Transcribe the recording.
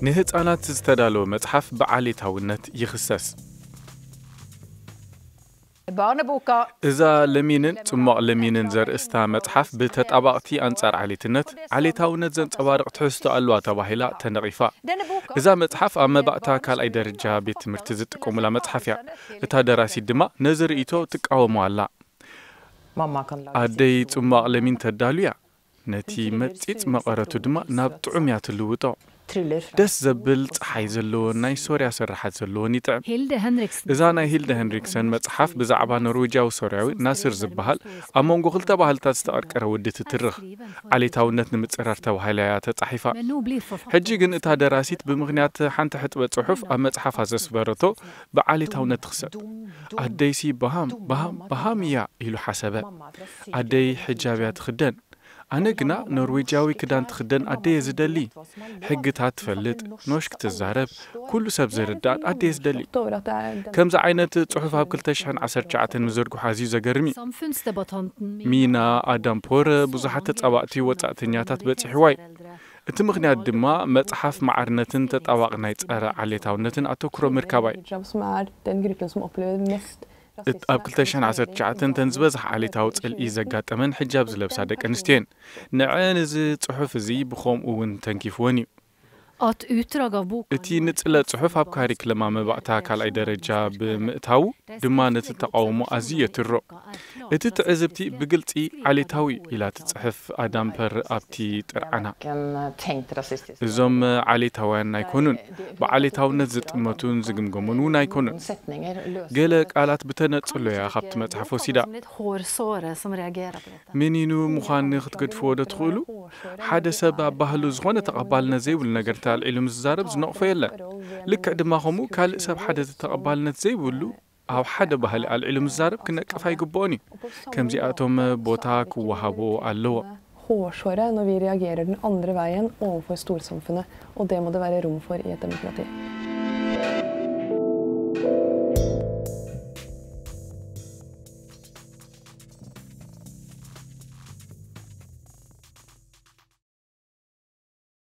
ንህጻናት ዝተዳለወ መጽሓፍ ብዓሌታውነት ይኽሰስ። Barneboka እዛ ለሚንን ጽሟቕ ለሚንን ዘርእስታ መጽሓፍ ብተጣባቕቲ ኣንጻር ዓሌትነት፣ ዓሌታውነት ዘንጸባርቕ ትሕዝቶ ኣለዋ ተባሂላ ተነቒፋ። እዛ መጽሓፍ ኣብ መባእታ ካልኣይ ደረጃ ቤት ትምህርቲ ዝጥቀሙላ መጽሓፍ እያ። እታ ደራሲት ድማ ነዚ ርእይቶ ትቃወሞ ኣላ። ኣደይ ጽሟቕ ለሚን ተዳሉ እያ። ነቲ መጺጽ መቐረቱ ድማ ናብ ጥዑም እያ ትልውጦ። ደስ ዘብል ጸሓይ ዘለዎን ናይ ሶርያ ስርሓት ዘለዎን ይጥዕም። Hilde Henriksen. እዛ ናይ ሂልደ ሄንሪክሰን መጽሓፍ ብዛዕባ ኖርዌጃዊ ሶርያዊ ናስር ዝበሃል ኣብ መንጎ ክልተ ባህልታት ዝተቐርቀረ ውዲ ትትርኽ። ዓሌታውነት ንምጽራር ተባሂላ እያ ተጻሒፋ። Men nå blir forfatteren ሕጂ ግን እታ ደራሲት ብምኽንያት ሓንቲ ሕጥበ ጽሑፍ ኣብ መጽሓፋ ዘስፈረቶ ብዓሌታውነት ትኽሰብ። ኣደይሲ በሃም በሃም በሃም እያ ኢሉ ሓሰበ። ኣደይ ሕጃብ እያ ትኽደን። ኣነ ግና ኖርዌጃዊ ክዳን ትኽደን ኣደየ ዝደሊ። ሕግታት ትፈልጥ፣ ኖሽ ክትዛረብ፣ ኩሉ ሰብ ዝርዳእን ኣደየ ዝደሊ። ከምዚ ዓይነት ጽሑፍ ኣብ ክልተ ሽሕን ዓሰርተ ትሽዓተን ምዝርግሑ ኣዝዩ ዘገርም እዩ። Samfunnsdebattanten ሚና ኣዳምፖር ብዙሓት ተጻባእቲ ወጻእተኛታት በጺሕዋ እዩ። እቲ ምኽንያት ድማ መጽሓፍ ማዕርነትን ተጣባቕ ናይ ጸረ ዓሌታውነትን ኣተኩሮ ምርካባ እዩ። Hijab, som er den gruppen som opplever mest እት- ኣብ ክልተ ሽሕን ዓሰርተ ትሽዓተን እተን ዝበዝሕ ዓሌታዊ ጽልኢ ዘጋጠመን ሕጃብ ዝለብሳ ደቂ ኣንስትዮ እየን። ንዐን እዚ ጽሑፍ እዚ ብኸምኡ እውን ተንኪፍወን እዩ። At utdrag av boka እቲ ንጽለ ጽሑፍ ኣብ ካሪክለማ መባእታ ካልኣይ ደረጃ ብምእታዉ ድማ ነቲ ተቓውሞ ኣዝዩ የትሮ። እቲ ትዕዝብቲ ብግልጺ ዓሌታዊ ኢላ ትጽሕፍ ኣዳምፐር ኣብቲ ጥርዓና። እዞም ዓሌታውያን ኣይኮኑን። ብዓሌታውነት ዝጥመቱን ዝግምገሙን እውን ኣይኮኑን። ገለ ቃላት ብተነጽሎ እያ ካብቲ መጽሓፍ ወሲዳ። Hårsåret som reagerar på detta. ምኒኑ ምዃን ክትገድፍዎ ዶ ትኽእሉ? ሓደ ሰብ ኣብ ባህሉ ዝኾነ ተቐባልነት ዘይብሉ ነገር ኣልዒሉ ምስ ዝዛረብ ዝነቕፎ የለን። ልክዕ ድማ ከምኡ ካልእ ሰብ ሓደ ተቐባልነት ዘይብሉ ኣብ ሓደ ባህሊ ኣልዒሉ ምስ ዝዛረብ ክነቅፍ ኣይግብኦን እዩ። ከምዚኣቶም ቦታ ክወሃቦ ኣለዎ። Hårsåret når vi reagerer den andre veien overfor storsamfunnet, og det må det være rom for i et demokrati.